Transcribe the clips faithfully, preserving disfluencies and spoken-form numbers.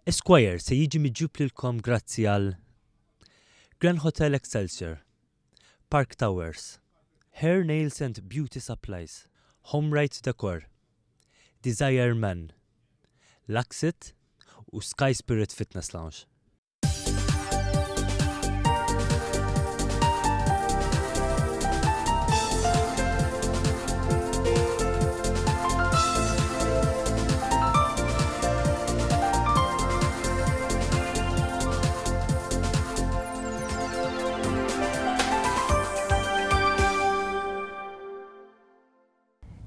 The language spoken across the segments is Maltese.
Esquire se jiġi miġjub lilkom grazzi għal Grand Hotel Excelsior, Park Towers, Hair Nails and Beauty Supplies, Home Right Decor, Desire Men, Luxit u Sky Spirit Fitness Lounge.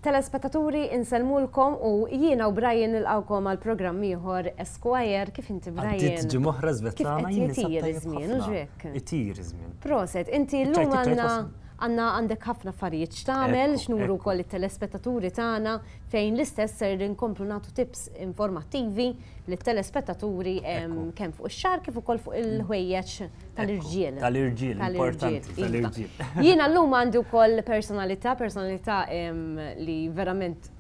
Telespettaturi, insellmulkom u jiena u Brian nilqawkom għal programm ieħor Esquire. Kif inti, Brian? Għaddiet ġimgħa oħra, Svetlana. Kif qed itir iż-żmien, u hekk? Itir iż-żmien. Proset, inti llum għandna għandna għandek ħafna affarijiet x'tagħmel, x'nuru wkoll it-telespettaturi tagħna, fejn l-istess ser inkomplu nagħtu tips informattivi lit-telespettaturi kemm fuq ix-xagħar kif ukoll fuq il-ħwejjeġ tal-irġiel. Tal-irġiel, importanti, tal-irġiel. Jiena llum għandi wkoll personalità, personalità li verament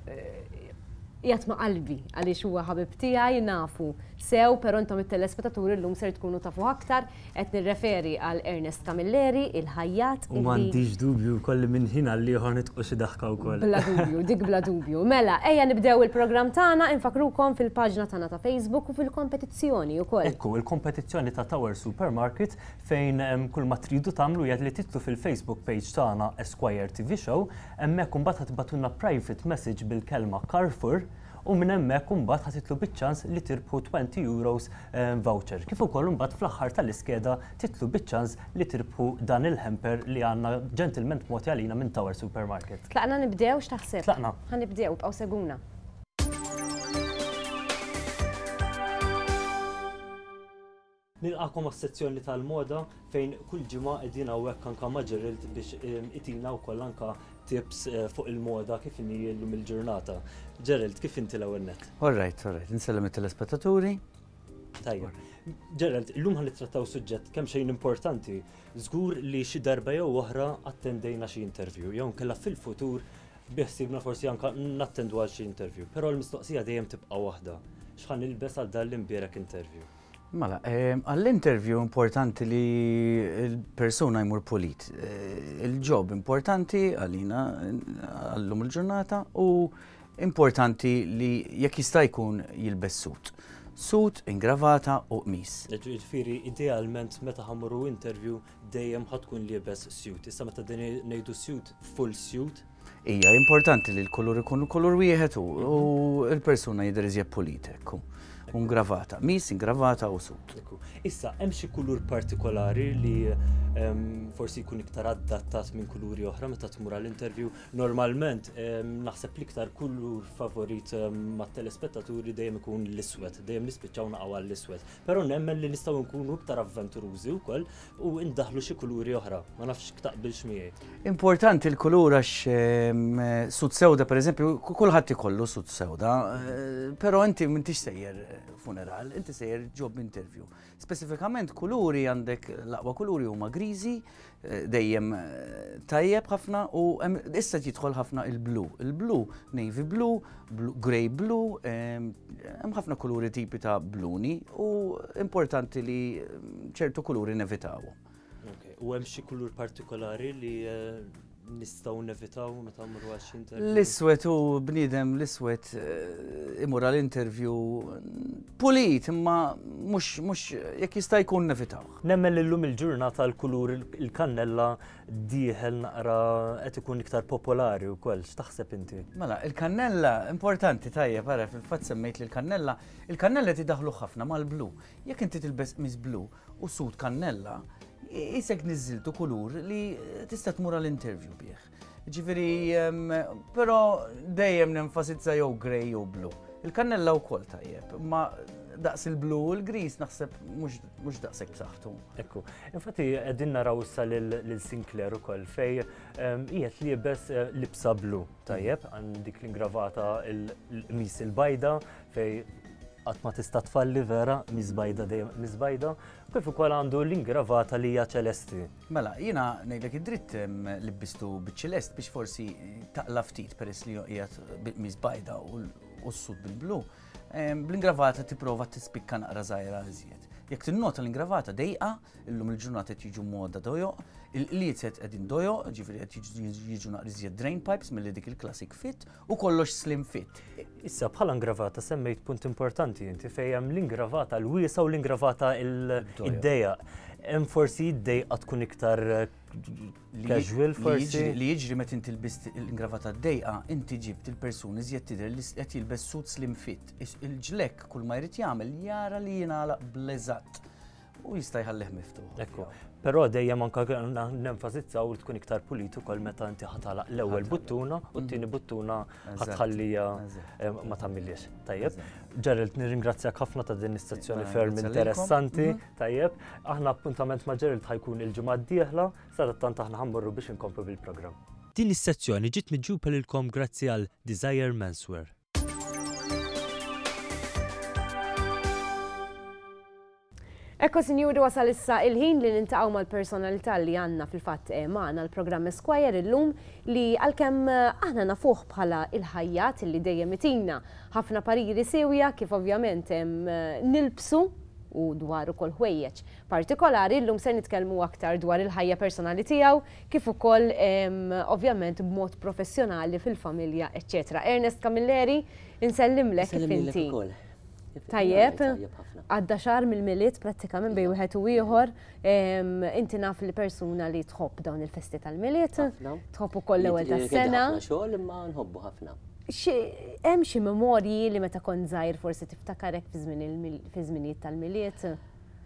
qiegħed ma' qalbi għaliex huwa ħabib tiegħi, nafu sew, però intom it-telespettaturi llum ser tkunu tafu aktar. Qed nirreferi għal Ernest Camilleri, il-ħajjat. U m'għandix dubju wkoll minn ħin għal ieħor nitqu xi daħka wkoll. Bla dubju, dik bla dubju. Mela, ejja nibdew il-programm tagħna, infakrukom fil-paġna tagħna ta' Facebook u fil-kompetizzjoni wkoll. Ekku, il-kompetizzjoni ta' Tower Supermarket, fejn kull ma tridu tagħmlu jgħid li titlu fil-Facebook page tagħna Esquire T V Show, hemmhekk imbagħad ħa tibagħtulna private message bil-kelma Carrefour u minn hemmhekk imbagħad ħa titlu biċ-ċans li tirbħu twenty euros voucher. Kif ukoll imbagħad fl-aħħar tal-iskeda titlu biċ-ċans li tirbħu dan il-hamper li għandna ġentilment mogħti għalina minn Tower Supermarket. Tlaqna nibdew, x'taħseb? Tlaqna. Ħa nibdew, bqgħu seguna. Nilqakom għas-sezzjoni tal-moda, fejn kull ġimgħa qegħdin hawnhekk anke ma' Gerald biex itina wkoll anke tips eh, fuq il-moda kif inhi llum il-ġurnata. Gerald, kif inti l-ewwel nett? All right, all right. Insellem it-telespettaturi. Tajjeb. Gerald, illum ħa nittrattaw suġġett kemm xejn importanti. Żgur li xi darba jew oħra attendejna xi interview, jew nkella fil-futur biħsibna forsi anka nattendu għal xi interview. Però l-mistoqsija dejjem tibqa' waħda. X'ħa nilbes għal dan l-imbierek interview? Mela, għall-interview importanti li l-persuna jmur pulit. Eh, il-job importanti għalina għallum il-ġurnata u importanti li jekk jista' jkun jilbes suit. Suit, ingravata u qmis. Ġifieri, idealment meta ħa mmorru interview dejjem ħa tkun liebes suit. Issa meta ngħidu suit, full suit. Ija, importanti li l-kulur ikun kulur wieħed u l-persuna jidher iżjed pulit, ekku. Ingravata, qmis, ingravata u suit. Issa, hemm xi kulur partikolari li forsi jkun iktar adattat minn kuluri oħra meta tmur għall-interview? Normalment, naħseb l-iktar kulur favorit mat-telespettaturi dejjem ikun l-iswed, dejjem nispiċċaw naqgħu għall-iswed. Però nemmen li nistgħu nkunu iktar avventurużi wkoll u ndaħlu xi kuluri oħra. Ma nafx taqbilx miegħi. Importanti l-kulur għax suit sewda, per eżempju, kulħadd ikollu suit sewda, eh, però inti m'intix sejjer funeral, inti sejjer job interview. Speċifikament kuluri, għandek l-aqwa kuluri huma griżi, eh, dejjem eh, tajjeb ħafna, u issa jidħol ħafna il-blu. Il-blu, navy blue, grey blue, hemm ħafna kuluri, tipi ta' bluni, u importanti li ċertu kuluri nevitaw. U hemm xi kulur partikolari li eh, nistgħu nevitaw meta mmorru għal xi interview? L-iswed, u bniedem l-iswed eh, imur għal interview pulit, imma mhux mhux jekk jista' jkun nevitaw. Nemmen li llum il-ġurnata l-kulur il-kannella dieħel naqra, qed ikun iktar popolari wkoll. X'taħseb inti? Mela, il-kannella importanti, tajjeb, ara, fil-fatt semmejt li l-kannella, il-kannella tidaħlu ħafna mal-blu. Jekk inti tilbes qmis blu u suit kannella, qisek niżiltu kulur li tista' tmur għall-interview bih. Ġifieri, però dejjem nenfasizza jew grey jew blu. Il-kannella wkoll tajjeb, ma daqs il-blu u l-gris naħseb mhux daqshekk b'saħħtu. Ekku, infatti qegħdin naraw issa lil Sinclair ukoll fej qiegħed liebes eh, libsa blu, tajjeb, għandik l-ingravata, il-qmis il-bajda, fej qatt ma tista' tfalli vera, qmis bajda dejjem qmis bajda, kif ukoll għandu l-ingravata li hija ċelesti. Mela, jiena ngħidlek id-dritt, libbistu biċ-ċelest biex forsi taqla ftit, peress li qiegħed bil-qmis bajda u s-suit bil-blu. Bl-ingravata tipprova tispikka naqra żgħira iżjed. Jekk tinnota l-ingravata dejqa, illum il-ġurnata qed jiġu moda dojoq, il-qliezet qegħdin dojoq, ġifieri qed jiġu naqra iżjed drain pipes milli dik il-classic fit u kollox slim fit. Issa bħala ingravata semmejt punt importanti inti fejn hemm l-ingravata l-wiesa u l-ingravata id-dejja. Hemm forsi id-dejqa tkun iktar casual forsi. Li jiġri meta inti lbist l-ingravata d-dejqa, inti ġibt il-persuni iżjed tidher li qed jilbes suit slim fit. Il-ġlekk kull ma jrid jagħmel jara li jingħalaq bl-eżatt u jista' jħallih miftuħ. Ekku. Però dejjem anke nenfasizzaw li tkun iktar pulit ukoll meta inti ħatalaq l-ewwel buttuna u t-tieni buttuna ħatħallija ma tagħmilhiex. Tajjeb. Gerald, nirringrazzjak ħafna ta' din is-sezzjoni ferm interessanti. Tajjeb. Aħna appuntament ma' Gerald ħajkun il-ġimgħa d-dieħla, sadattant aħna ħammorru biex inkomplu bil-programm. Din is-sezzjoni ġiet miġjuba lilkom grazzi għal Desire Menswear. Ekku, sinjuri, wasal issa il-ħin li nintaqgħu mal-personalità li għandna fil-fatt magħna l-programm Esquire illum li għalkemm aħna nafuh bħala il-ħajjat li dejjem itina ħafna pariri sewja kif ovvjament nilbsu u dwar ukoll ħwejjeġ partikolari, illum se nitkellmu aktar dwar il-ħajja personali tiegħu kif ukoll ovvjament b'mod professjonali fil-familja, eċċetera. Ernest Camilleri, insellimlek kif inti. Tajjeb, għadda xahar mill-Milied prattikament bejn wieħed u ieħor, inti naf li persuna li tħobb dawn il-festi tal-Milied, tħobb ukoll l-ewwel tas-sena. Ħafna xogħol imma nħobbu ħafna. Hemm xi memorji li meta kont żgħir forsi tiftakarek fi żminijiet tal-Milied?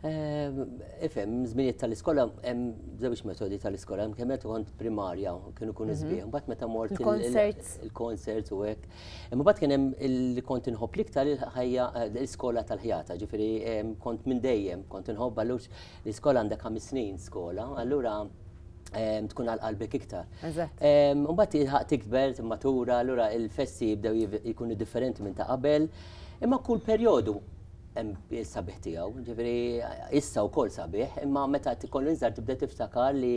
Ifhem, żminijiet tal-iskola hemm żewġ metodi tal-iskola, hemm kemm meta kont primarja kienu jkunu sbieħ, mbagħad meta mort il-concerts u hekk. Imma mbagħad kien hemm li kont inħobb l-iktar il-ħajja l-iskola tal-ħjata, ġifieri kont minn dejjem kont inħobb allura l-iskola għandek ħames snin skola, allura tkun għal qalbek iktar. Mbagħad tilħaq tikber, timmatura, allura il-festi jibdew jkunu differenti minn ta' qabel, imma kull perjodu hemm sabiħ tiegħu, ġifieri issa wkoll sabiħ, imma meta tkun inżar tibda tiftakar li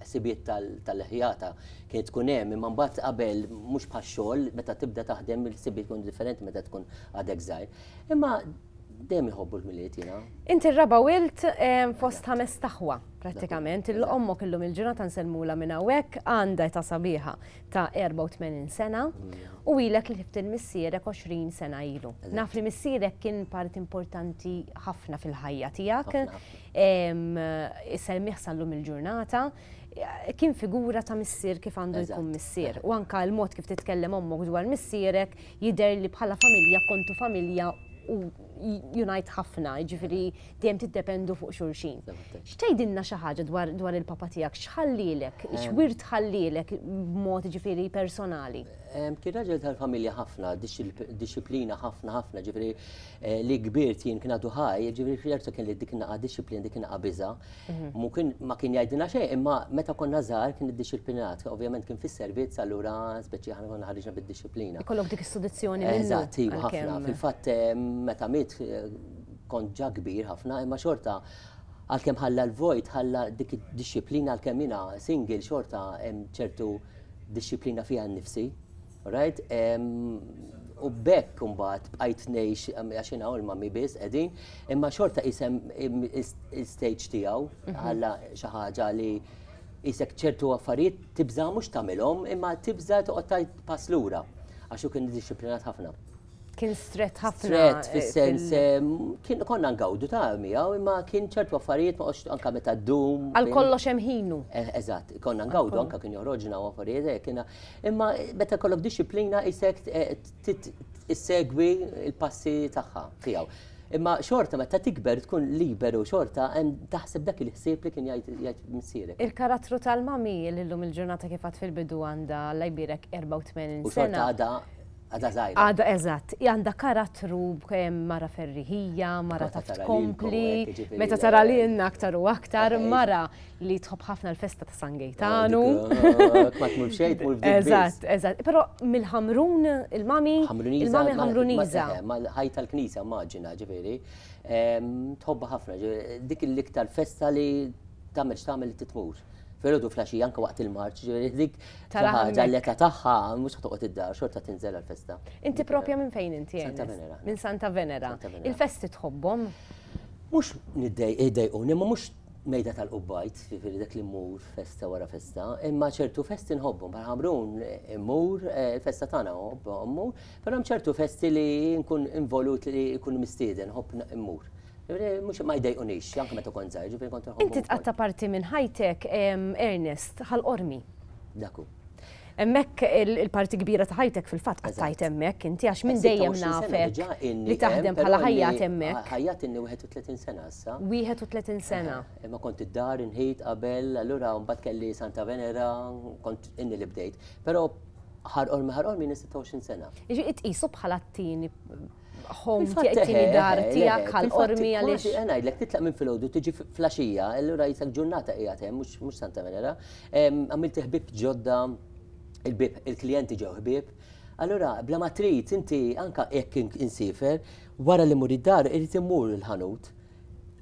ħsibiet tal-ħjata kienet tkun hemm, imma mbagħad qabel mhux bħax-xogħol, meta tibda taħdem il-ħsibiet tkun differenti meta tkun għadek żgħir. Imma dejjem iħobbu l-Milied jiena. Inti r-raba' wilt fost ħames taħwa prattikament, il-ommok illum il-ġurnata nsellmula minn hawnhekk għandha età sabiħa ta' erbgħa u tmenin sena u ilek li tiftil missierek għoxrin sena ilu. Naf li missierek kien part importanti ħafna fil-ħajja tiegħek, issemmih sal-lum il-ġurnata, kien figura ta' missier kif għandu jkun missier. U anka l-mod kif titkellem ommok dwar missierek jidher li bħala familja kontu familja u unite ħafna, ġifieri dejjem tiddependu fuq xulxin. X'tgħidilna xi ħaġa dwar il-papa tiegħek, x'ħallilek, x'wirt ħallilek b'mod ġifieri personali? Kien raġel tal-familja ħafna, dixxiplina ħafna ħafna, ġifieri li kbirt jien kien għadu ħaj, ġifieri ċertu kien li dik naqa' dixxiplina, dik naqa' biża'. Ma kien jgħidilna xejn, imma meta konna żgħar kien iddixxiplinat, ovvjament kien fis-servizz allura speċi aħna konna ħariġna bid-dixxiplina. Ikollok dik is-sodizzjoni minnu. Eżatt, iva ħafna. Fil-fatt meta miet kont ġa kbir ħafna, imma xorta għalkemm ħalla l-vojt, ħalla dik id-dixxiplina għalkemm jiena single xorta hemm ċertu dixxiplina fiha nnifsi. Right? U bekk imbagħad bqajt ngħix għax jiena u l-mami biss qegħdin, imma xorta isem il-stage tiegħu ħalla xi ħaġa li isek ċertu affarijiet tibża' mhux tagħmilhom, imma tibża' toqgħod tgħid pass lura għax hu kien iddixxiplinat ħafna. Kien strett ħafna. Strett fis-sens kien konna ngawdu ta' miegħu imma kien ċertu affarijiet ma qgħodx anke meta ddum. Għal kollox hemm ħinu. Eżatt, konna ngawdu anke kien joħroġna u affarijiet hekk kiena. Imma meta kollok dixxiplina isek issegwi l-passi tagħha tiegħu. Imma xorta meta tikber tkun liberu xorta hemm taħseb dak il-ħsieb li kien jgħid missierek. Il-karattru tal-mami li llum il-ġurnata kif għad fil-bidu għandha Alla jbierek erbgħa u tmenin sena. U xorta għadha għadha żgħira. Għadha eżatt, għandha karattru mara ferriħija, mara taf tkompli, meta tara lilna aktar u aktar, mara li tħobb ħafna l-festa ta' San Gejtanu. Ma tmur xejn, tmur f'dik. Eżatt, eżatt. Però mill-Ħamrun, il-mami, il-mami Ħamruniża. Mal-ħaj tal-Knisja immaġina, ġifieri, tħobbha ħafna, dik l-iktar festa li tagħmel x'tagħmel li titmur. Filgħodu filgħaxija anke waqt il-marċ, ġifieri dik ħaġa l-età tagħha mhux toqgħod id-dar, xorta tinżel għall-festa. Inti propja minn fejn inti? Santa Venera. Minn Santa Venera. Il-festi tħobbhom? Mhux niddejquni, imma mhux mejda tal-qubbajt, ġifieri dak li mmur festa wara festa, imma ċertu festi nħobbhom, bħal Ħamrun immur, il-festa tagħna mmur, però hemm ċertu festi li nkun involut li nkun mistieden, nħobb immur. Mhux ma jdejqunix, anke meta kont żgħir, ġifieri kont inħobb. Inti tqatta' parti minn ħajtek, Ernest, Ħal Qormi. Dak hu. Hemmhekk il-parti kbira ta' ħajtek fil-fatt qattajt hemmhekk inti għax minn dejjem nafek li taħdem bħala ħajjat hemmhekk. Ħajjat inni wieħed u tletin sena issa. Wieħed u tletin sena. Imma kont id-dar inħit qabel, allura mbagħad kelli Santa Venera, kont inni li bdejt. Però Ħal Qormi Ħal Qormi sitta u għoxrin sena. Jiġifieri tqisu bħala t-tieni home tiegħek, tieni dar tiegħek Ħal Qormi għaliex. Ngħidlek titlaq minn filgħodu tiġi flaxija, allura jisek ġurnata qiegħed hemm mhux Santa Venera. Għamilt ħbieb ġodda, il-bib, il-klijenti ġew ħbieb. Allura, bla ma trid inti anka jekk insifer, wara li mur id-dar irid immur il-ħanut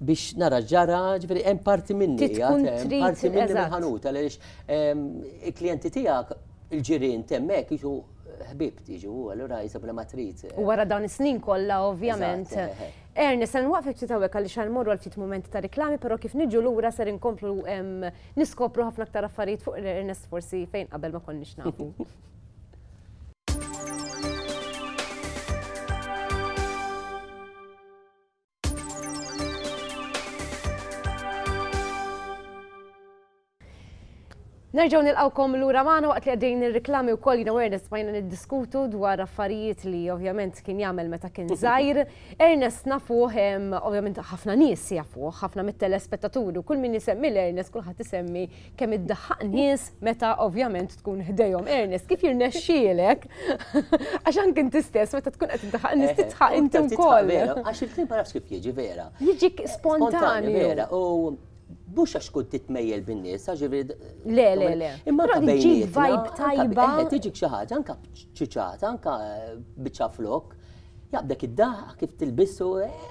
biex nara ġara, ġifieri hemm parti minni, parti minni mill-ħanut għaliex il-klijenti tiegħek, il-ġirien temmek jiġu ħbieb tiġu, allura jisa bla ma trid. U wara dawn is-snin kollha ovvjament. Ernest, se nwaqfek ftit hawnhekk għaliex ħa nmorru għal ftit mumenti ta' riklami, però kif niġu lura ser inkomplu niskopru ħafna aktar affarijiet fuq Ernest forsi fejn qabel ma konniex nafu. Nerġgħu nilqgħukom lura magħna waqt li għaddejjin ir-riklami wkoll jiena u Ernest bqajna niddiskutu dwar affarijiet li ovvjament kien jagħmel meta kien żgħir. Ernest nafuh, ovvjament ħafna nies jafuh, ħafna mit-telespettaturi u kull min isemmi l-Ernest kulħadd isemmi kemm iddaħħaq nies meta ovvjament tkun ħdejhom. Ernest, kif jirnexxielek? Għax anke inti stess meta tkun qed tiddaħħaq nies titħaq inti wkoll. Għax il-kliem ma nafx kif jiġi vera. Jiġik spontanju. Vera. U mhux għax kont titmejjel bin-nies, ġifieri. Le, le, le. Imma Però bejnietna, tiġik vibe tajba. Tiġik xi ħaġa, anke ċiċata, anke biċċa flok, jaqbdek id-daħ kif tilbissu,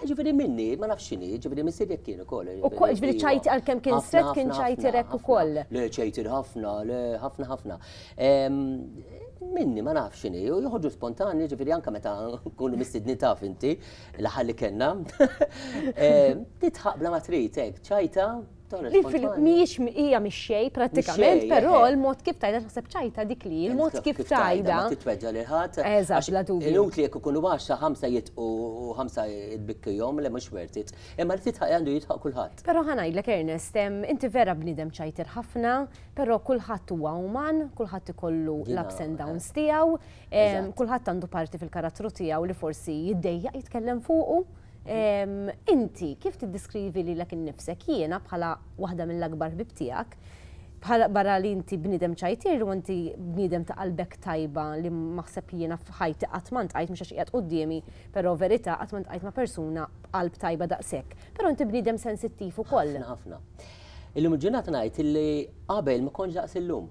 ġifieri minni, ma nafx x'inhi, ġifieri missier jekk kien ukoll. U ġifieri ċajti għalkemm kien stret kien ċajtirek ukoll. Le, ċajtir ħafna, le, ħafna ħafna. Minni ma nafx x'inhi, u joħorġu spontani, ġifieri anke meta nkunu mistedni taf inti, l-aħħar li kellna. Titħaq bla ma trid hekk, ċajta. Li mhijiex hija mhix xejn prattikament, però l-mod kif tajda naħseb ċajta dik li, il-mod kif tajda. Ma titweġġa lil ħadd. Eżatt, bla dubju. Inutli jekk ikunu għaxra ħamsa jitqu u ħamsa jitbikkihom li mhux worth it. Imma li titħaq għandu jitħaq kulħadd. Però ħa ngħidlek Ernest, inti vera bniedem ċajtir ħafna, però kulħadd huwa uman, kulħadd ikollu l-ups and downs tiegħu, kulħadd għandu parti fil-karattru tiegħu li forsi jiddejjaq jitkellem fuqu. Inti kif tiddiskrivi lilek innifsek? Jiena bħala waħda mill-akbar ħbieb tiegħek, bħala barra li inti bniedem ċajtir u inti bniedem ta' qalbek tajba li maħseb jiena f'ħajti qatt ma ntqajt, mhux għax qiegħed quddiemi, però verità qatt ma ntqajt ma' persuna b'qalb tajba daqshekk. Però inti bniedem sensittiv ukoll. Ħafna ħafna. Illum il-ġurnata ngħid illi qabel ma kontx daqs illum.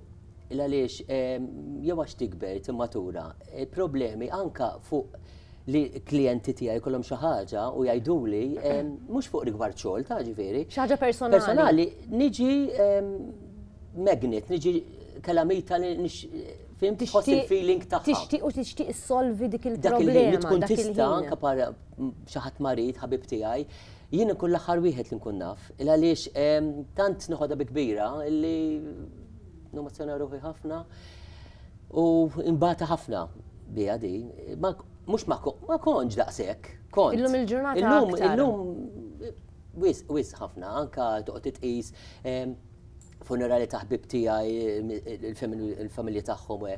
Il għaliex jew għax tikber timmatura, problemi anka fuq li klijenti tiegħi jkollhom xi ħaġa u jgħiduli mhux fuq rigward xogħol ta' ġifieri. Xi ħaġa personali. Personali, niġi magnet, niġi kalamita li fim tħoss il-feeling tagħha. Tixtieq u tixtieq issolvi dik Dak il-ħin li il-problema. tkun Dak tista' il-ħin. anke para xi ħadd marid ħabib tiegħi, jien nkun l-aħħar wieħed li nkun naf. Il għaliex tant noħodha bi kbira illi nomozzjona ruħi ħafna u imbata ħafna biha di. Mhux ma kontx daqshekk, kont. Illum il-ġurnata Illum, aktar. illum wis wis ħafna, anka toqgħod titqis funerali ta' ħbib tiegħi, il-familji tagħhom,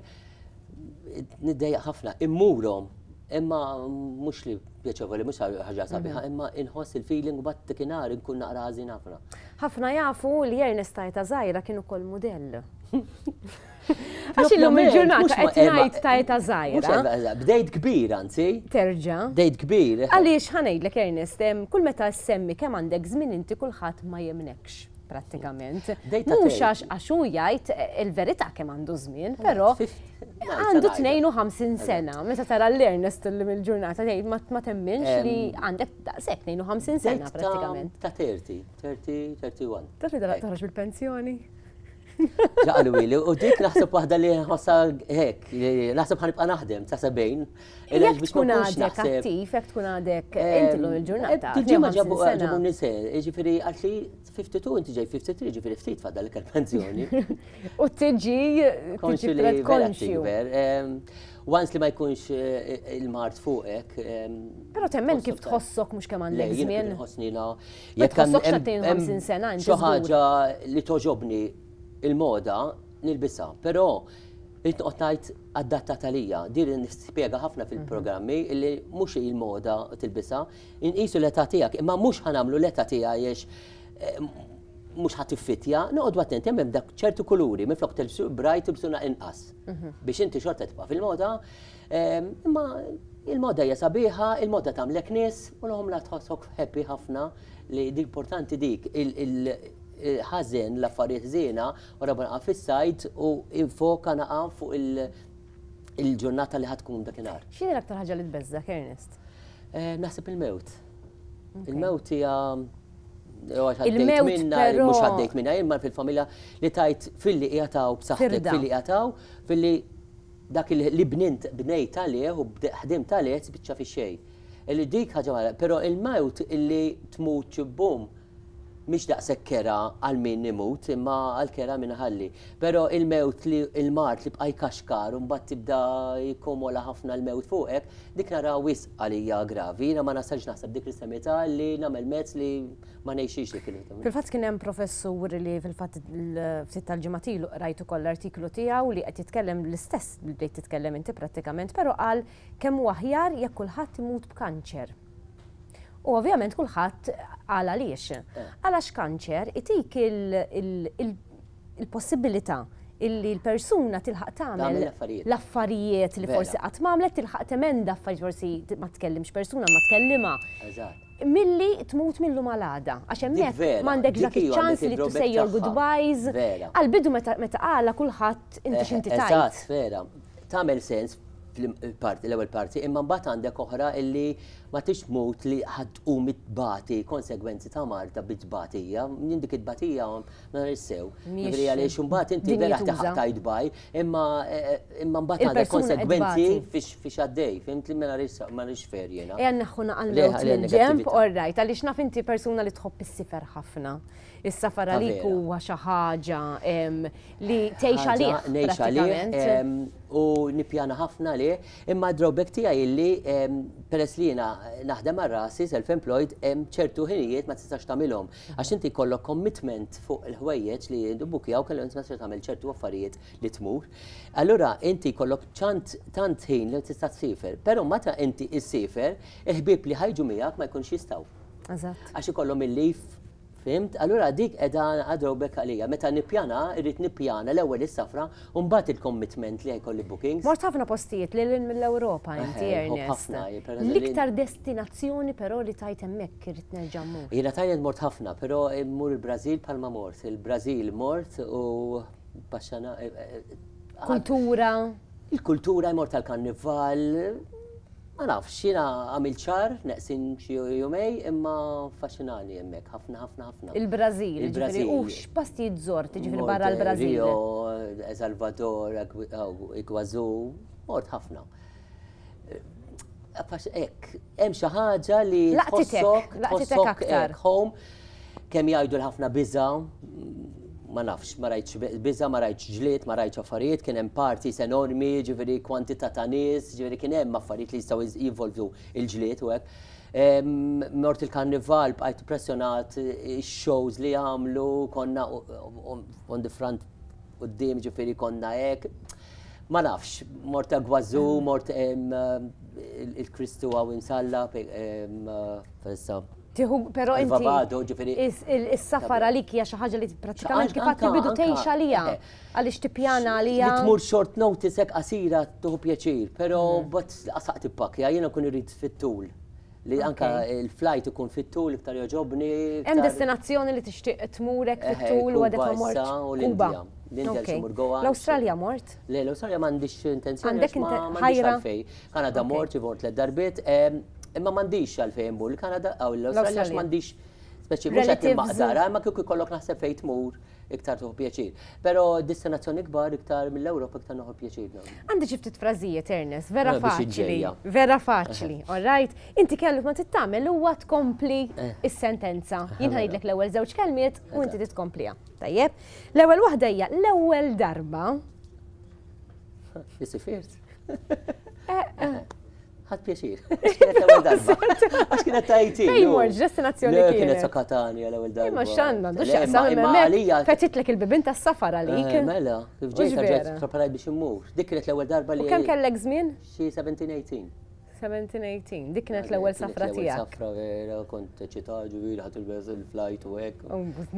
niddejjaq ħafna, immurhom, imma mhux li pjaċevoli, mhux ħaġa sabiħa, imma inħoss il-feeling u bat dakinhar inkun naqra ħażin ħafna. Ħafna jafu li Ernest ta' età żgħira kien ukoll mudell. Għax illum il-ġurnata qed ngħid ta' età żgħira. Bdejt kbir anzi. Terġa'. Bdejt kbir. Għaliex ħa ngħidlek Ernest, kull meta ssemmi kemm għandek żmien inti kulħadd ma jemnekx prattikament. Mhux għax għax hu jgħid il-verità kemm għandu żmien, però għandu tnejn u ħamsin sena. Meta tara l-Ernest illum il-ġurnata tgħid ma temminx li għandek daqshekk tnejn u ħamsin sena prattikament. Ta' thirty, thirty, thirty-one. Taf li daqq toħroġ bil-pensjoni? Ġa qaluli, u dik naħseb waħda li nħossha hekk, naħseb ħa nibqa' naħdem ta' sebgħin. Jekk tkun għadek attiv, jekk tkun għadek inti l il-ġurnata. Ġimgħa ġabu ġabu nise, ġifieri għaltli ħamsa u ħamsin, inti ġej ħamsa u tlieta u ħamsin, ġifieri ftit fadal il-pensjoni. U tiġi Konxju li vera tikber. Once li ma jkunx il-mard fuqek. Però temmen kif tħossok mhux kemm għandek żmien. Nħossni la. Ma tħossokx ta' sena Xi ħaġa li togħġobni il-moda nilbisha, però irrid noqgħod ngħid adattata għalija. Din nispjega ħafna fil-programmi illi mhux il-moda tilbisha, inqisu l-età tiegħek, imma mhux ħa nagħmlu l-età tiegħi għax mhux ħa tiffittja, noqogħdu attenti, hemm dak ċertu kuluri, minflok tilbsu bright tilbsuna inqas. Biex inti xorta tibqa' fil-moda, imma il-moda hija sabiħa, il-moda tagħmlek nies u l la tħossok happy ħafna li dik importanti dik il-ħażen l-affarijiet ħżiena u rabba naqa' fis-sajd u infoka naqa' fuq il-ġurnata li ħa tkun dakinhar. X'inhi l-aktar ħaġa li tbeżżak, Ernest? Naħseb il-mewt. Il-mewt hija Il-mewt minna, mhux għaddejt minna, imma fil-familja li tajt filli jgħataw b'saħħtek, filli jgħataw, filli dak li bnint bnejt għalih u ħdimt għalih spiċċa fi xejn. Illi dik ħaġa mara, però il-mewt illi tmut bum mhix daqshekk kerha għal min imut, imma għal kerha min ħalli. Però il-mewt li il-mard li bqa' jkaxkar u mbagħad tibda jikkomola ħafna l-mewt fuqek, dik nara wisq għalija gravi. Jiena ma nasalx naħseb dik l-istremità li nagħmel mezz li ma ngħixix dik il Fil-fatt kien hemm professur li fil-fatt ftit tal-ġimgħat ilu qrajt ukoll l-artiklu tiegħu li qed jitkellem l-istess li bdejt titkellem inti prattikament, però qal kemm hu aħjar jekk kulħadd imut b'kanċer. U ovvjament kulħadd qal għaliex. Għalax kanċer itik il-possibilità illi l-persuna tilħaq tagħmel l-affarijiet li forsi qatt m'għamlet, tilħaq temenda affarijiet forsi ma tkellimx persuna ma tkellimha. Milli tmut millu malada. Għax hemmhekk m'għandekx dak iċ-ċans li to say your goodbyes. Għal-bidu meta qala kulħadd inti x'inti tajt. Eżatt, vera. Tagħmel sens parti, l-ewwel parti, imma mbagħad għandek oħra illi ma tix tmut li ħadd tqum tbati konsegwenzi ta' marda bit-tbatija, jien dik it-tbatija ma sew. Jiġifieri għaliex imbagħad inti vera taħaq tajt baj, imma imma mbagħad għandek konsegwenzi fiex għaddej, fimt li ma rix fair jiena. Ejja neħħu naqal mill-ġemp, all right, għaliex naf inti persuna li tħobb is-sifer ħafna. Is-safar għalik huwa xi ħaġa li tgħix għalih. Ngħix għalih u nippjana ħafna li, imma drawback tiegħi illi peress li jiena naħdem għal rasi self-employed hemm ċertu ħinijiet ma tistax tagħmilhom. Għax inti jkollok commitment fuq il-ħwejjeġ li jibbukjaw kellu inti ma tistax tagħmel ċertu affarijiet li tmur. Allura inti jkollok ċant tant ħin li tista' tsifer, però meta inti issifer, il-ħbieb li ħa jiġu miegħek ma jkunx jistgħu. Eżatt. Għax ikollhom il-leave. Fimt? Allura dik edha drawback għalija. Meta nippjana, irrid nippjana l-ewwel is-safra u mbagħad il-commitment li jkolli bookings. Mort ħafna postijiet lil mill-Ewropa inti Ernest. L-iktar destinazzjoni però li tajt hemmhekk irrid nerġa' mmur. Jiena Thailand mort ħafna, però mmur il-Brażil bħalma mort. Il-Brażil mort u baxxana. Kultura. Il-kultura mort tal-karnival. Ma nafx, jiena għamil ċar, neqsin xi jumej, imma faxxinani hemmhekk, ħafna, ħafna, ħafna. Il-Brażil, ġifieri, u x'postijiet żort, ġifieri barra l-Brażil? Rio, Salvador, Iguazu, mort ħafna. Ek, hemm xi ħaġa li tħossok, tħossok aktar. Home, kemm jgħidu l-ħafna biża', ma nafx, ma rajtx biża, ma rajtx ġlied, ma rajtx affarijiet, kien hemm parties enormi, ġifieri kwantità ta' nies, ġifieri kien hemm affarijiet li jistgħu jinvolvu il-ġlied u hekk. Mort il-karnival, bqajt impressjonat ix-shows li għamlu, konna on the front quddiem, ġifieri konna hekk. Ma nafx, mort Iguazu, mort il-Kristu hawn imsalla, fessa. Tiħu, però inti. Vavado, ġifieri. Is-safar għalik hija xi ħaġa li prattikament kif għad bidu tgħix għalija. Għaliex tippjana għalija. Li tmur short notice hekk qasira tieħu pjaċir, però bat qasaq tippakja, jiena nkun irid fit-tul. Li anka il-flight ikun fit-tul iktar jogħġobni. Hemm destinazzjoni li tixtieq tmurek fit-tul u għadek ma mort. Kuba. L-Indja xi Goa. L-Awstralja mort? Le, l-Awstralja m'għandix intenzjoni. Għandek ħajra. Kanada mort, mort tliet darbiet. Imma m'għandix għalfejn immur il-Kanada għaw l-Awstralja għax m'għandix Speċi mhux qed nimmaqdara, imma kieku jkollok naħseb fejn tmur iktar tieħu pjaċir. Però destinazzjoni kbar iktar mill-Ewropa iktar nieħu pjaċir. Għandi xi ftit frażijiet, Ernest, vera faċli. Vera faċli, all right? Inti kellu ma tittamel huwa tkompli eh. is-sentenza. Jien ħajdlek l-ewwel żewġ kelmiet u inti titkompliha. Tajjeb? L-ewwel waħda hija l-ewwel darba. Isifirt. Eh, eh. Ħadt pjaċir. Kienet l-ewwel darba. Għax kienet tajti. Fejn mort, destinazzjoni kienet? Kienet sa Katania l-ewwel darba. Imma x'għandna, għandu x'jaqsam imma fetitlek il-bibien tas-safar għalik. Eh, mela, kif ġejt ġejt preparajt biex immur. Dik kienet l-ewwel darba li. U kemm kellek żmien? Xi seventeen eighteen. seventeen eighteen, dik kienet l-ewwel safra tiegħek. Safra vera, kont eċitat ġifieri ħadd il-beż il-flight u hekk.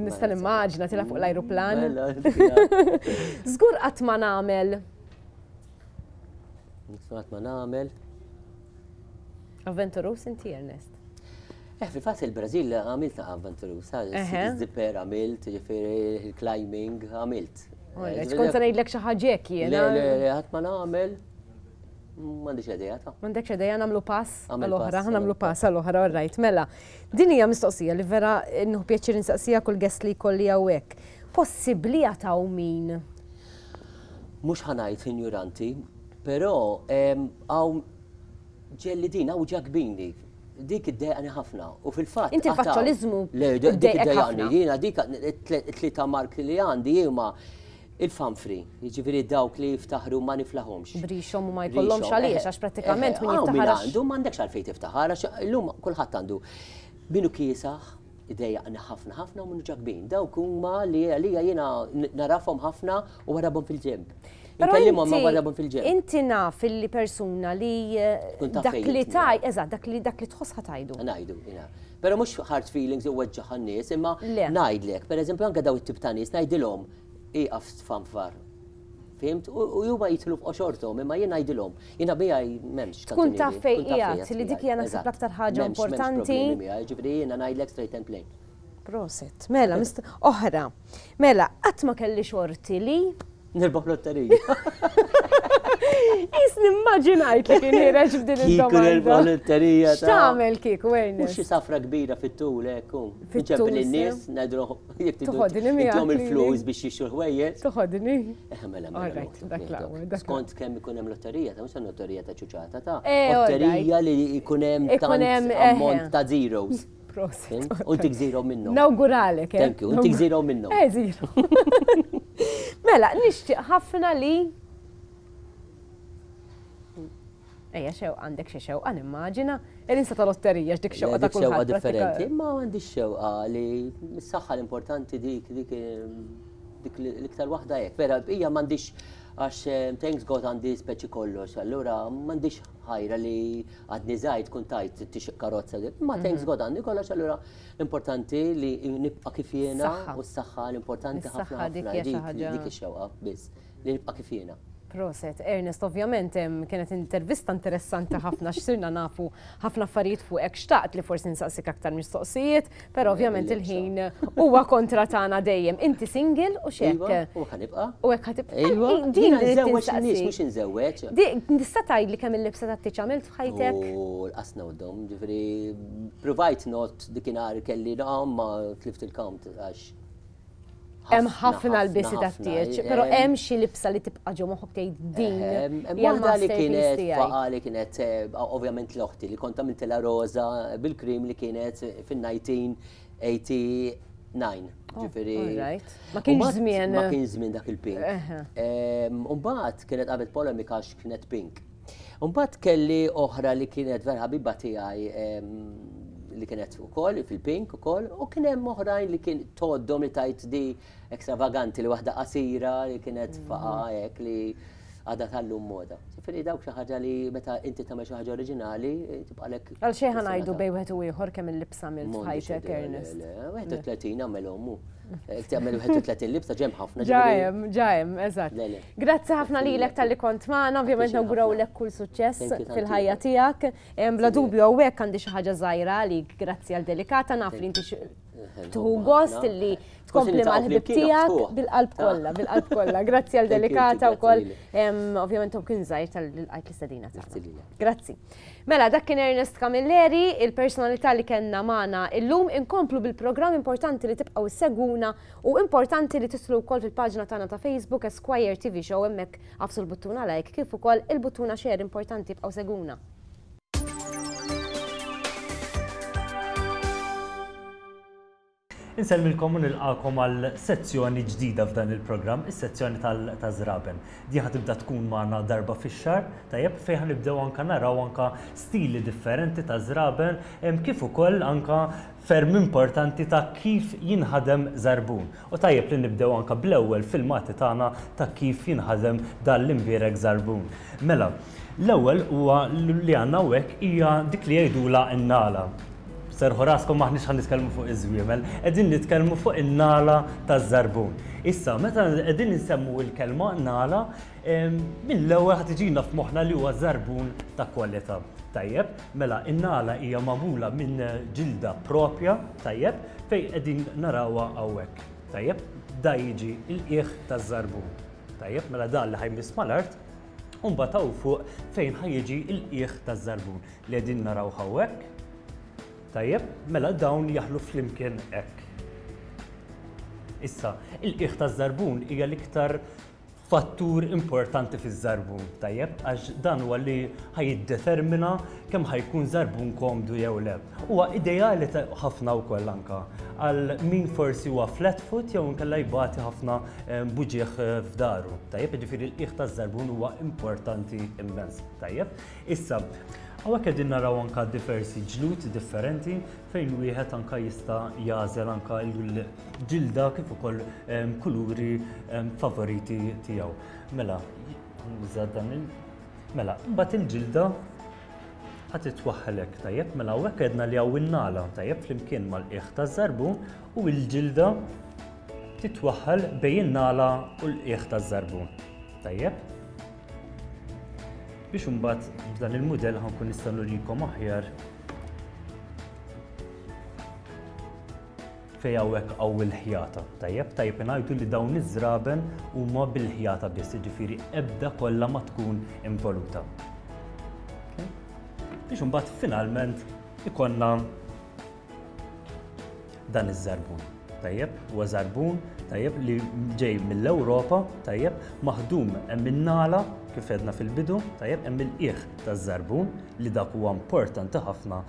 Nista' nimmaġina tilha fuq l-ajruplan. Mela, żgur qatt ma nagħmel. Qatt ma nagħmel. Avventurus inti, Ernest? Eh, fil-fatt il-Brażil għamilt avventurus, zipper għamilt, ġifieri il-climbing għamilt. Kont se ngħidlek xi ħaġa hekk jiena. Le, le, le, ħadd ma nagħmel. M'għandix idea ta'. M'għandekx idea, nagħmlu pass għall-oħra, nagħmlu pass għall-oħra, all right. Mela, din hija mistoqsija li vera nieħu pjaċir insaqsija kull guest li jkolli hawnhekk. Possibbli għataw min? Mhux ħanajt ignoranti, però hawn ġelli din hawn ġakbini. Dik iddejqani ħafna u fil-fatt. Inti l-faċċoliżmu Le, dik iddejqani, jiena dik it-tlieta mark li għandi huma il-fanfri, jiġifieri dawk li jiftaħru ma niflaħomx. Brixhom u ma jkollhomx għaliex, għax prattikament min jiftaħar. Għandu m'għandekx għalfejn tiftaħar, għax illum kulħadd għandu. Minu kiesaħ, idejjaqni ħafna ħafna u minu ġakbin. Dawk huma li għalija jiena narafhom ħafna u warabhom fil-ġenb. Inkellimhom ma warabhom fil-ġenb. Inti naf illi persuna li dak li taj, eżatt, dak li dak li tħoss ħatajdu. Ngħidu, jiena. Però mhux hard feelings u weġġaħ nies, imma ngħidlek, pereżempju anke daw it-tip ta' nies ngħidilhom iqaf tfanfar. Fimt? U huma jitlu f'qoxorthom, imma jien ngħidilhom. Jiena miegħi m'hemmx. Tkun taf fejn qiegħed li dik hija naħseb l-aktar ħaġa importanti. Ġifieri jiena ngħidlek straight and plain. Proset. Mela, oħra. Mela, qatt ma kelli xorti li nirbaħ lotterija. Is nimmaġinajt li kien ħireġ f'din id-domanda. Kieku nirbaħ lotterija. X'tagħmel kieku, Ernest? Mhux xi safra kbira fit-tul hekk. Nċempel in-nies, ngħidilhom jekk tridu intom il-flus biex jixtru l-ħwejjeġ. Toħodni. Eh, mela, mela. Skont kemm ikun hemm lotterija, ta' mhux lotterija ta' ċuċata ta' lotterija li jkun hemm tant ammont ta' zeros. Proset. U tik zero minnhom. Nawguralek. Thank you, u tik zero minnhom. Eh, zero. Mela, nixtieq ħafna li Ejja, xew għandek xi xewqa nimmaġina, il-insa ta' lotterija x'dik xewqa ta' kulħadd. Xewqa differenti, imma għandi xewqa li s-saħħa l-importanti dik dik dik l-iktar waħda hekk. Vera, hija m'għandix għax thanks God għandi speċi kollox, allura m'għandix ħajra li għadni żgħid tkun tajt tixtieq karozza, imma thanks God għandi kollox, allura l-importanti li nibqa' kif jiena u s-saħħa l-importanti ħafna ħafna dik ix-xewqa biss li nibqa' kif jiena. Proset, Ernest, ovvjament kienet intervista interessanti ħafna x'sirna nafu ħafna affarijiet fuqek, xtaqt li forsi nsaqsik aktar mistoqsijiet, però ovvjament il-ħin huwa kontra tagħna dejjem. Inti single u x'hekk? U ħanibqa'. U hekk ħatibqa'. Iva, din nżewweġ nies mhux inżewweġ. Tista' tgħidli kemm il-libsa tat-tieġ għamilt f'ħajtek? U l-qasna u d-dom, ġifieri provajt not dikinhar kelli naqam ma tlift il-count għax. Hemm ħafna lbisi tat-tieġ, però hemm xi libsa li tibqa' ġo moħħok tgħid din. Waħda li kienet faqa li kienet ovvjament l-oħti li kont għamiltilha roża bil-krim li kienet fin-nineteen eighty-nine. Ġifieri. Ma kienx żmien. Ma kienx żmien dak il-pink. U mbagħad kienet qabel polemika għax kienet pink. U mbagħad kelli oħra li kienet vera ħabiba tiegħi li kienet ukoll fil-pink ukoll, u kien hemm oħrajn li kien toddhom li tajt di ekstravaganti li waħda qasira li kienet faqa hekk li għadha tal-lum moda. Ġifieri dawk xi ħaġa li meta inti tagħmel xi ħaġa oriġinali tibqalek. Għal xejn ħa ngħidu bejn wieħed u ieħor kemm il-libsa għamilt f'ħajtek, Ernest. Wieħed u tletin għamel ommu. Tagħmel wieħed u tletin libsa ġem ħafna. Ġajem, ġajem, eżatt. Grazzi ħafna lilek talli kont magħna, ovvjament nawgurawlek kull suċċess fil-ħajja tiegħek. Bla dubju hawnhekk għandi xi ħaġa żgħira għalik, grazzi għal Delikata, naf li inti tieħu gost li tkompli mal-ħbib tiegħek bil-qalb kollha, bil-qalb kollha. Grazzi għal Delikata wkoll, ovvjament kien żgħir tal-qajt l-istedina tagħna. Grazzi. Mela, dak kien Ernest Camilleri, il-personalità li kellna magħna illum. Inkomplu bil-programm, importanti li tibqgħu issegwuna u importanti li tislu wkoll fil-paġna tagħna ta' Facebook Esquire T V Show, hemmhekk għafsu l-buttuna like kif ukoll il-buttuna share, importanti ibqgħu segwuna. Insellmilkom u nilqakom għal sezzjoni ġdida f'dan il-programm, is-sezzjoni tal-żraben. Di ħa tibda tkun magħna darba fix-xahar, tajjeb, fejn ħa nibdew anka naraw anka stili differenti ta' żraben, kif ukoll anka ferm importanti ta' kif jinħadem żarbun. U tajjeb li nibdew anka bl-ewwel filmati tagħna ta' kif jinħadem dan l-imbierek żarbun. Mela, l-ewwel huwa li għandna hawnhekk hija dik li jgħidulha n-nala. Serħu raskom, maħniex ħan nitkellmu fuq iż-żwiemel, qegħdin nitkellmu fuq in-nala taż-żarbun. Issa, meta qegħdin insemmu l-kelma nala, mill-ewwel ħad tiġina f'moħħna li huwa żarbun ta' kwalità. Tajjeb, mela in-nala hija magħmula minn ġilda propja, tajjeb, fejn qegħdin narawha hawnhekk. Tajjeb, da jiġi l-qiegħ taż-żarbun. Tajjeb, mela dan li ħajmiss mal-art, u mbagħad hawn fuq fejn ħajjiġi l-qiegħ taż-żarbun li qegħdin naraw hawnhekk. Tajjeb, mela dawn jaħlu flimkien hekk. Issa, il-qiegħ taż-żarbun hija l-iktar fattur importanti fiż-żarbun, tajjeb, għax dan huwa li ħajiddetermina kemm ħajkun żarbun komdu jew le. Huwa ideali ħafna wkoll anka għal min forsi huwa flat foot jew inkella jbati ħafna buġieħ f'daru. Tajjeb, jiġifieri l-qiegħ taż-żarbun huwa importanti immens. Tajjeb, issa hawnhekk qegħdin naraw anka diversi ġlud differenti fejn wieħed anka jista' jagħżel anka l-ġilda kif ukoll kuluri favoriti tiegħu. Mela, nuża dan il mela, mbagħad il-ġilda ħa titwaħħlek, tajjeb, mela hawnhekk għedna li hawn in-nala, tajjeb, flimkien mal-qiegħ taż-żarbun u l-ġilda titwaħħal bejn in-nala u l-qiegħ taż-żarbun. Tajjeb? Biex imbagħad b'dan il-mudell ħankun nista' nurikom aħjar fejn hawnhekk hawn il-ħjata. Tajjeb, tajjeb ngħidu li dawn iż-żraben huma bil-ħjata biss, jiġifieri ebda kollha ma tkun involuta. Biex imbagħad finalment ikollna dan iż-żarbun. Tajjeb, huwa żarbun, tajjeb, li ġej mill-Ewropa, tajjeb, maħdum hemm in-nala kif għedna fil-bidu, tajjeb, hemm il-qiegħ taż-żarbun li dak huwa importanti ħafna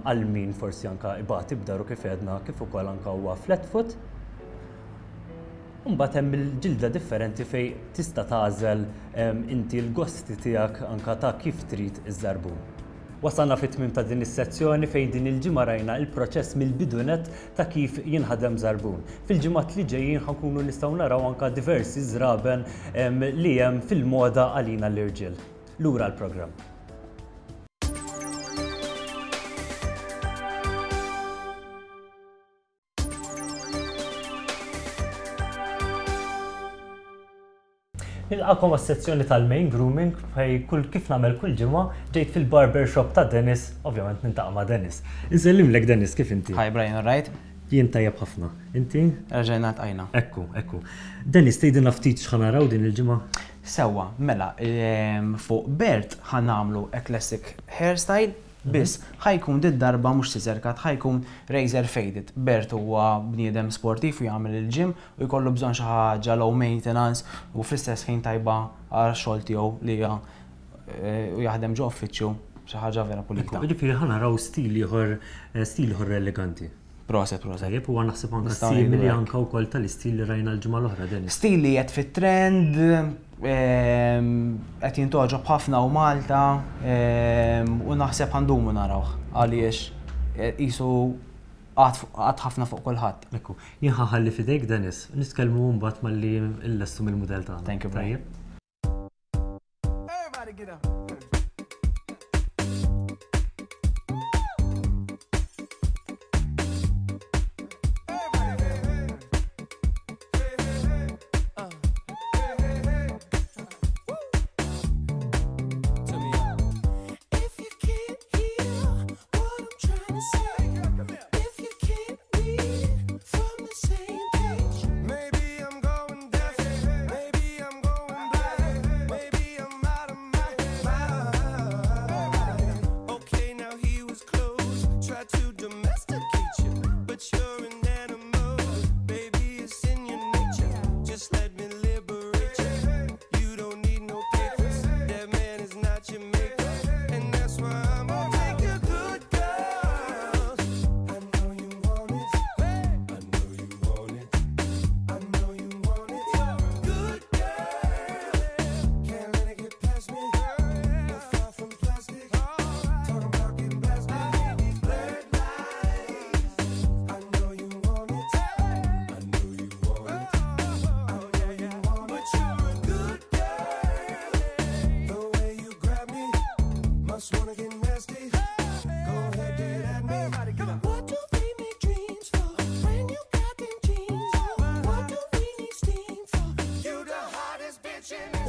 għal min forsi anka ibati b'daru kif għedna, kif ukoll anka huwa flat foot. Imbagħad hemm il-ġilda differenti fejn tista' tagħżel inti l-gosti tiegħek anka ta' kif trid iż-żarbun. Wasalna fit-tmiem ta' din is-sezzjoni fejn din il-ġimgħa rajna il-proċess mill-bidu nett ta' kif jinħadem żarbun. Fil-ġimgħat li ġejjin ħankunu nistgħu naraw anka diversi żraben li hemm fil-moda għalina l-irġiel. Lura l-programm. Nilqakom għas-sezzjoni tal-main grooming fej kull kif nagħmel kull ġimgħa ġejt fil-barber shop ta' Dennis, ovvjament nintaqa' ma' Dennis. Insellimlek Dennis, kif inti? Hi Brian, all right? Jien tajjeb ħafna. Inti? Reġgħajna ltqajna. Ekku, ekku. Dennis, tgħidilna ftit x'ħa naraw din il-ġimgħa? Sewwa, mela, fuq Bert ħa nagħmlu a classic hairstyle, biss ħajkun dit darba mhux scissor cut, ħajkun razor faded. Bert huwa bniedem sportiv u jagħmel il-gym u jkollu bżonn xi ħaġa low maintenance u fl-istess ħin tajba għal xogħol tiegħu li hija u jaħdem ġo uffiċċju, xi ħaġa vera pulita. Jiġifieri ħa naraw stil ieħor, stil ieħor eleganti. Proset, proset. Tajjeb, huwa naħseb anke simili anke wkoll tal-istil li rajna l-ġimgħa l-oħra, Dennis. Stil li qed fit-trend, qed jintoġob ħafna u Malta, u naħseb ħandumu narawh għaliex qisu qatt ħafna fuq kulħadd. Ekku, jien ħalli f'idejk Dennis, nitkellmu mbagħad malli llestu mill-mudell tagħna. Thank you, Brian. Everybody get up.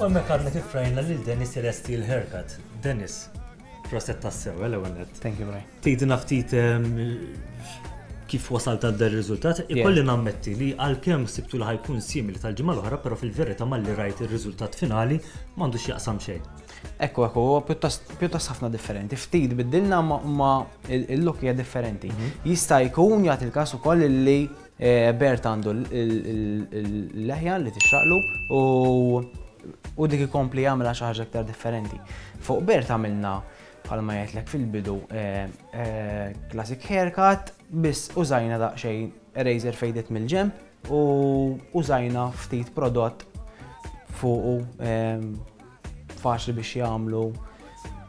U hemmhekk għadna kif rajna lil Dennis Celesti l-haircut. Dennis, proset tassew, l-ewwel nett. Thank you, Brian. Tgħidilna ftit em, kif wasalt għal dan ir-riżultat. Ikolli nammetti li għalkemm sibtu li ħa jkun simili tal-ġimgħa l-oħra, però fil-verità malli rajt ir-riżultat finali m'għandux jaqsam xejn. Ekku, ekku, huwa pjuttost pjuttost ħafna differenti. Ftit biddilna ma, ma il-look hija differenti. Jista' jkun jagħti il-każ ukoll li eh, Bert għandu l-leħja li tixraqlu u u dik ikompli jagħmilha xi ħaġa aktar differenti. Fuq Bert għamilna bħalma jgħidlek fil-bidu eh, eh, classic haircut, biss użajna daqsxejn razor faded mill-ġemp u użajna ftit prodott fuqu eh, faċli biex jagħmlu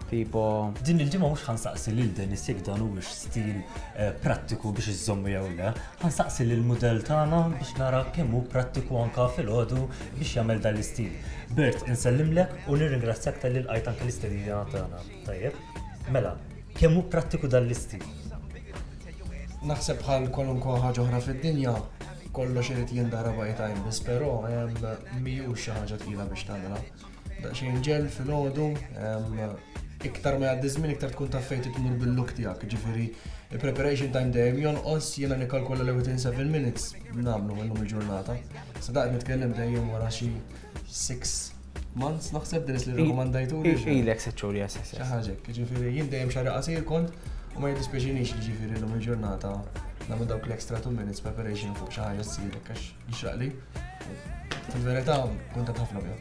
tipo Din il-ġimgħa mhux ħa nsaqsi lil Dennis jekk dan huwiex stil eh, prattiku biex iżommu jew le, ħa nsaqsi lil mudell tagħna biex nara kemm hu prattiku anka filgħodu biex jagħmel dan l-istil. Bert, insellimlek u nirringrazzjak talli lqajt anke l-istedina tagħna. Tajjeb? Mela, kemm hu prattiku dan l-istil? Naħseb bħal kwalunkwe ħaġa oħra fid-dinja, kollox irid jindara by time, biss però em, mhijiex xi ħaġa tqila biex tagħmilha. Daqsxejn ġel filgħodu, em, iktar ma jgħaddi żmien iktar tkun taf fejn tmur bil-look tiegħek, ġifieri il-preparation time dejjem jonqos, jiena nikkalkola li within seven minutes nagħmlu illum il-ġurnata. Sa daqt nitkellem dejjem wara xi six months naħseb Dennis li rrakkomandajtu. Ilek sitt xhur, yes, yes, Xi yes. ħaġa hekk, ġifieri jien dejjem xagħri qasir kont u ma jiddispjaċinix li ġifieri llum il-ġurnata nagħmel dawk l-extra two minutes preparation fuq xi ħaġa ssirek għax jixraqli. Fil-verità kuntent ħafna biha.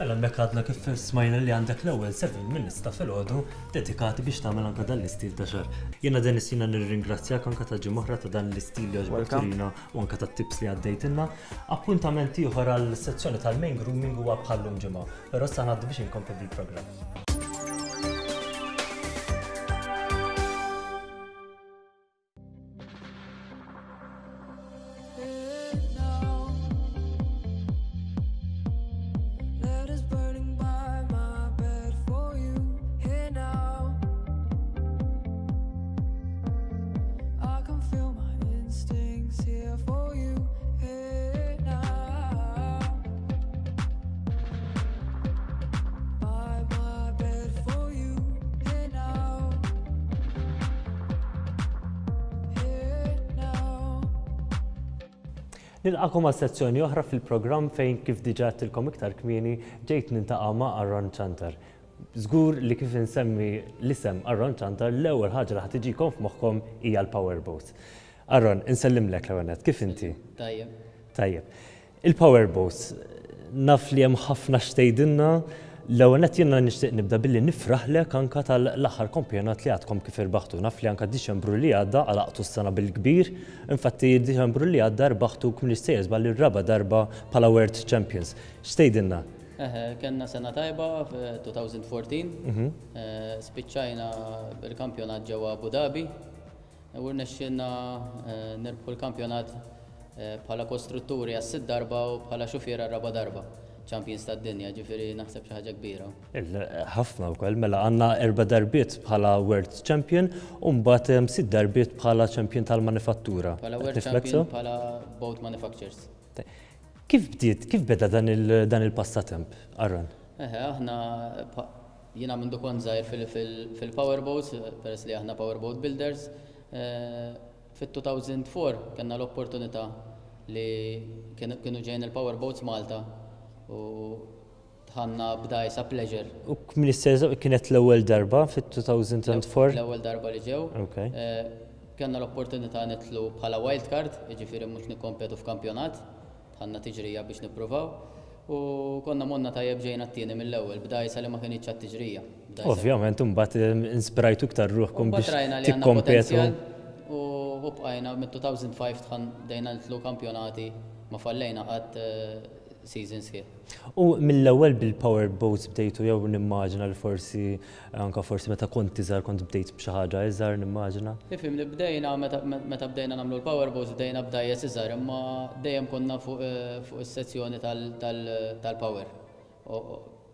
Mela hemmhekk għadna kif smajna li għandek l-ewwel seven minutes ta' filgħodu dedikati biex tagħmel anke dan l-istil ta' xagħar. Jiena Dennis jiena nirringrazzjak anke ta' ġimgħa oħra ta' dan l-istil li għoġbok Welcome. turina u anke tat-tips li għaddejtilna. Appuntament ieħor għal sezzjoni tal-main grooming huwa bħallum ġimgħa, però issa ngħaddu biex inkomplu bil-programm. Letters burning by my bed for you here now. I can feel my instincts here for you here now. By my bed for you here now. Here now. Nilqakom għal sezzjoni oħra fil-programm fejn kif diġà għedtilkom iktar kmieni ġejt niltaqa' ma' Aaron Chantar. Żgur li kif insemmi l-isem Aaron Chantar l-ewwel ħaġa li ħa tiġikom f'moħħkom hija l-Powerboat. Aaron, insellimlek l-ewwel nett, kif inti? Tajjeb. Tajjeb. Il-Powerboats, naf li hemm ħafna x'tgħidilna, l-ewwel nett jiena nixtieq nibda billi nifraħlek anka tal-aħħar kampjonat li għadkom kif irbaħtu. Naf li anka Diċembru li għadda għalaqtu s-sena bil-kbir, infatti Diċembru li għadda rbaħtu kif nistejjer żball ir-raba darba bħala World Champions. X'tgħidilna? Eħe, kellna sena tajba f'elfejn u erbatax, eh, spiċċajna bil-kampjonat ġewwa Abu Dhabi u rnexxielna eh, nirbħu l-kampjonat eh, bħala kostrutturi għas-sitt darba u bħala xufiera raba darba. Champions tad-dinja, ġifieri naħseb xi ħaġa kbira. Il- Ħafna wkoll, mela għandna erba' darbiet bħala World Champion u mbagħad hemm sitt darbiet bħala Champion tal-manifattura. Bħala Qed World niflek Champion sew? bħala boat manufacturers. Kif bdiet, kif beda dan il- dan il-passatemp, Aaron? Eħe, aħna pa- jiena mindu kont żgħir fil-powerboats, peress li aħna powerboat builders, eh, fit-elfejn u erbgħa kellna l-opportunità li kienu kienu ġejn il-powerboats Malta u dħalna b'dgħajsa pleasure. U kmin kienet l-ewwel darba fit-elfejn u erbgħa? L-ewwel darba li ġew. Ok. Eh, Kellna l-opportunità nidħlu bħala wildcard, jiġifieri mhux nikkompetu f'kampjonat, dħalna tiġrija biex nippruvaw. U konna morna tajjeb, ġejna t-tieni mill-ewwel, b'dgħajsa li ma kinitx għat-tiġrija. B'dgħajsa- Ovvjament, imbagħad inspirajtu iktar ruħkom Mbagħad biex rajna li għandna tikkompetu. potenzjal u u bqajna mit-elfejn u ħamsa dħan bdejna nidħlu kampjonati, ma fallejna qatt eh, season sħiħ. U mill-ewwel bil-powerboats bdejtu jew nimmaġina li forsi anka forsi meta kont iżgħar kont bdejt b'xi ħaġa iżgħar nimmaġina? Ifhem li bdejna meta meta bdejna nagħmlu l-powerboats bdejna b'dgħajjes iżgħar, imma dejjem konna fuq eh, fuq is-sezzjoni tal-power.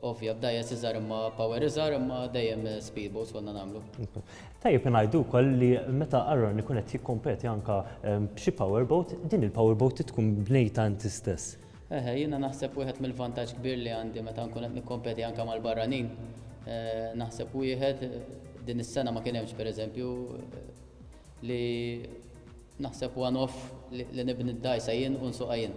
Ovvja b'dgħajjes iżgħar imma power iżgħar, imma dejjem speedboats konna nagħmlu. Tajjeb ngħidu wkoll li meta Aaron ikun qed jikkompeti anka b'xi powerboat, din il-powerboat tkun bnejta inti stess. Eħe, jiena naħseb wieħed mill-vantaġġ kbir li għandi meta nkun qed nikkompeti anke mal-barranin. Eh, naħseb wieħed din is-sena ma kien hemmx, pereżempju, li naħseb one off li li nibni d-dajsa jien u nsuqha jien.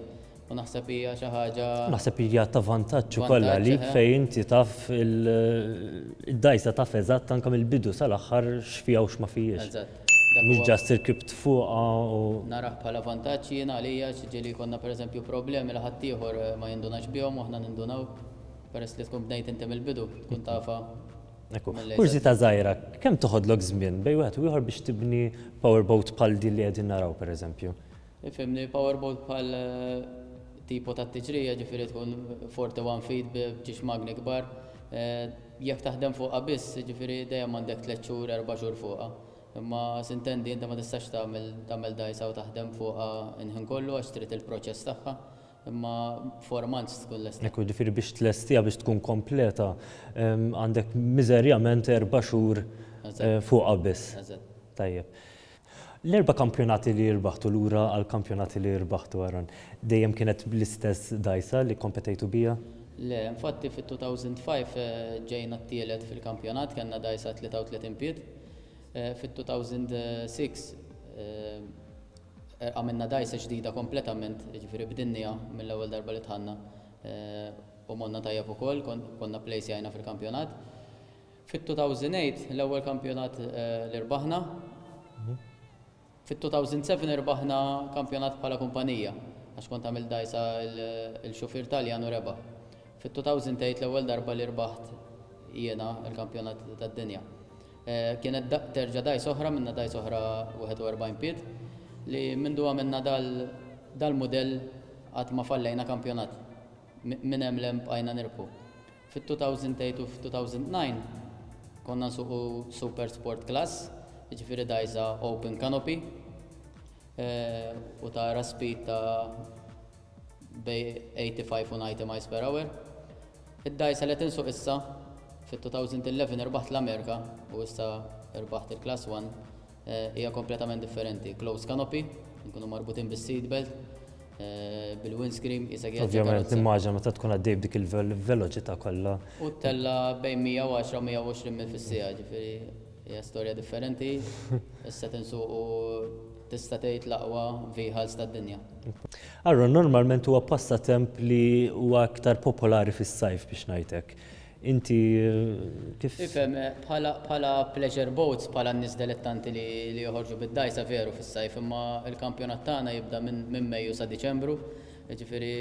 U naħseb hija xi ħaġa. Naħseb hija ta' vantaġġ ukoll Vantaġġ, għalik eħe. fejn inti taf il-dajsa, taf eżatt anke mill-bidu sal-aħħar x'fiha u x'ma fihiex. Eżatt. Dak Mhux huwa- just irkibt fuqha u Narah bħala vantaġġ jiena għalija, ġieli konna pereżempju problemi li ħaddieħor eh, ma jindunax bihom u aħna nindunaw, peress li tkun bnejt inti mill-bidu, tkun tafa. Ekku, mill-lejza. Kurżità żgħira, kemm toħodlok żmien bejn wieħed u ieħor biex tibni powerboat bħal din li qegħdin naraw, pereżempju? Ifhimni, powerboat bħal eh, tipo ta' tiġrija, ġifieri tkun forty-one feet b'ġiex magni kbar. eh, Jekk taħdem fuqha biss, ġifieri dejjem għandek tliet xhur, erba' xhur fuqha. Imma s'intendi, inti ma tistax tagħmel tagħmel dajsa u taħdem fuqha il-ħin kollu għax trid il-proċess tagħha. Imma four months tkun lesta. Ekku, ġifieri biex tlestiha, biex tkun kompleta, em, għandek miżerjament erba' xhur Eżatt. eh, fuqha biss. Eżatt. Tajjeb. L-erba' kampjonati li rbaħtu, lura għal kampjonati li rbaħtu, Aaron, dejjem kienet bl-istess dajsa li kompetejtu bija? Le, infatti fit-elfejn u ħamsa eh, ġejna t-tielet fil-kampjonat, kellna dajsa tlieta u tletin pied. Eh, Fit-elfejn u sitta eh, għamilna dajsa ġdida kompletament, ġifieri bdinniha mill-ewwel darba li dħalna eh, u monna tajjeb ukoll, kon- konna plejsjajna fil-kampjonat. Fit-elfejn u tmienja l-ewwel kampjonat eh, li rbaħna. Fit-elfejn u sebgħa irbaħna kampjonat bħala kumpanija, għax kont għamil dajsa il-xufier Taljan u rebaħ. Fit-elfejn u tmienja l-ewwel darba li rbaħt jiena il-kampjonat tad-dinja. Eh, Kienet da- terġa' dajsa oħra, minna dajsa oħra wieħed u erbgħin pied, li mindu għamilna dal- dal-modell qatt ma fallejna kampjonat. Mi- Minn hemm 'l hemm bqajna nirbħu. Fit-elfejn u tmienja u fit-elfejn u disgħa konna nsuqu Super Sport Class, jiġifieri dajsa open canopy, eh, u tara speed ta' bejn tmienja u ħamsin u disgħin miles per hour. Id-dajsa li tinsuq issa, fit-elfejn u għaxra irbaħt l-Amerika u issa irbaħt il-Class one, eh, hija kompletament differenti. Close canopy, nkunu marbutin bis-seatbelt, eh, bil-windscreen, jisek Ovvjament, nimmaġina meta tkun għaddej b'dik il-veloċità kollha. U ttella' bejn mija u għaxra u mija u għoxrin mil fis-siegħa, ġifieri hija storja differenti. Issa tinsuqu tista' tgħid l-aqwa vehicles tad-dinja. Aaron, normalment huwa passatemp li huwa aktar popolari fis-sajf, biex ngħidlek. Inti eh, kif? Ifhem, eh, bħala bħala pleasure boats, bħala n-nies dilettanti li, li joħorġu bid-dajsa, veru fis-sajf, imma il-kampjonat tagħna jibda minn min Mejju sa Diċembru, ġifieri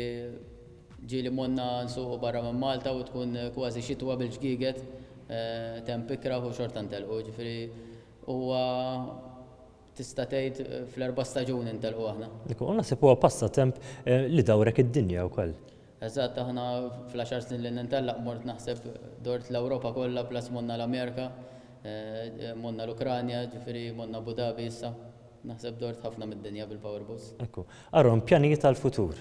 ġieli monna nsuqu barra minn Malta u tkun kważi xitwa bil-ġgiget, eh, temp ikraħ u xorta ntelqu, ġifieri huwa tista' tgħid eh, fl-erba' staġuni ntelqu aħna. Ekku, u naħseb huwa passatemp eh, li dawrek id-dinja wkoll. Eżatt, aħna fl-għaxar snin li nintellaq mort naħseb dort l-Ewropa kollha, plus monna l-Amerika, eh, monna l-Ukranja, ġifieri monna Abu Dhabi issa. Naħseb dort ħafna mid-dinja bil-powerboats. Ekku. Aaron, pjanijiet tal-futur.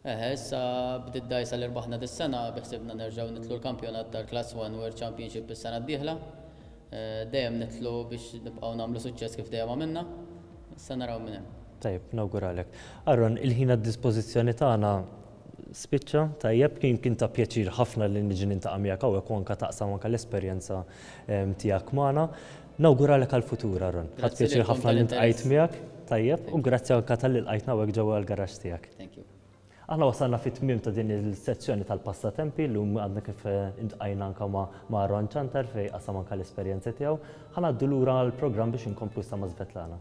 Eħe, issa bdiet dajsa li rbaħna dis-sena, beħsibna nerġgħu nitlu l-kampjonat tal-Class one World Championship is-sena d-dieħla. Eh, Dejjem nitlu biex nibqgħu nagħmlu suċċess kif dejjem għamilna. Issa naraw minn hemm. Tajjeb, nawguralek. Aaron, il-ħin għad-dispożizzjoni tagħna spiċċa, tajjeb, kien kien ta' pjaċir ħafna li niġi niltaqa' miegħek hawnhekk u anke taqsam anke l-esperjenza em, tiegħek magħna. Nawguralek għall-futur, Aaron. Ħadt Grazzi pjaċir lilkom ħafna li tal-interess. ntqajt miegħek, tajjeb, u grazzi anke talli lqajtna hawnhekk ġewwa l-garaxx tiegħek. Thank you. Aħna wasalna fit-tmiem ta' din il-sezzjoni tal-passatempi. Llum għadna kif eh, iltqajna anka ma' ma' Aaron Ciantar fejn qasam anka l-esperjenza tiegħu. Ħa ngħaddu lura għall-programm biex inkomplu sa ma' Svetlana.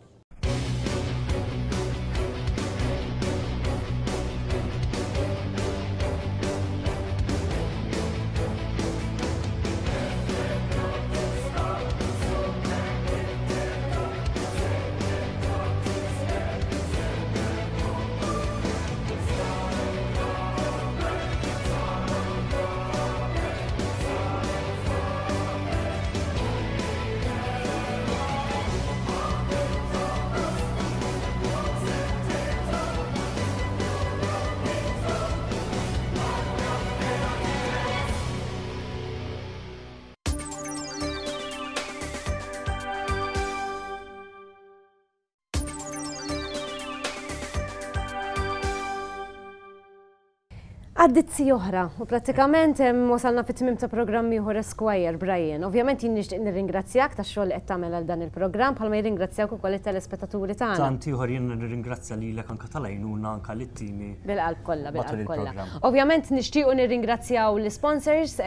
Għaddit siegħa oħra u prattikament wasalna fit-tmiem ta' programm ieħor Esquire, Brian. Ovvjament jien nixtieq nirringrazzjak tax-xogħol li qed tagħmel għal dan il-programm, bħalma jirringrazzjawk ukoll it-telespettaturi tagħna. Tant ieħor jien nirringrazzja lilek anke tal-għajnuna, anke lit-timi. Bil-qalb kollha, bil-qalb kollha. Ovvjament nixtiequ nirringrazzjaw l-sponsors,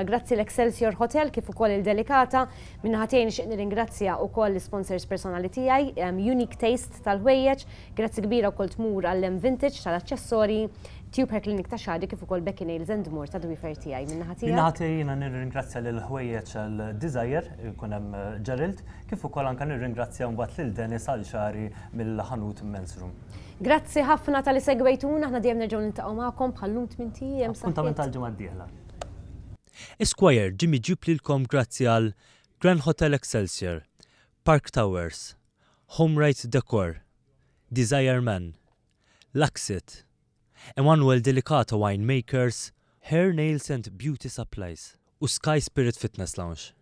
grazzi l-Excelsior Hotel kif ukoll il-Delicata. Min-naħa tiegħi nixtieq nirringrazzja ukoll l-sponsors personali tiegħi, Unique Taste tal-ħwejjeġ, grazzi kbira wkoll tmur għall-M Vintage tal-aċċessorji, Tube Hair Clinic ta' xagħri kif ukoll Becky Nails and More ta' dwifer tiegħi. Min-naħa tiegħek. Min-naħa tiegħi jiena nirringrazzja lil ħwejjeġ Desire, jkun hemm eh, Gerald, kif ukoll anke nirringrazzja mbagħad lil Dennis għal xagħri mill-ħanut Men's Room. Grazzi ħafna talli segwejtuna, aħna dejjem nerġgħu niltaqgħu magħkom bħal-lum tmint ijiem. Appuntament tal-ġimgħa d-dieħla. Esquire ġie miġjub lilkom grazzi għal Grand Hotel Excelsior, Park Towers, Home Right Decor, Desire Man, Luxit, Emanuel Delicato Winemakers, Hair, Nails and Beauty Supplies u Sky Spirit Fitness Lounge.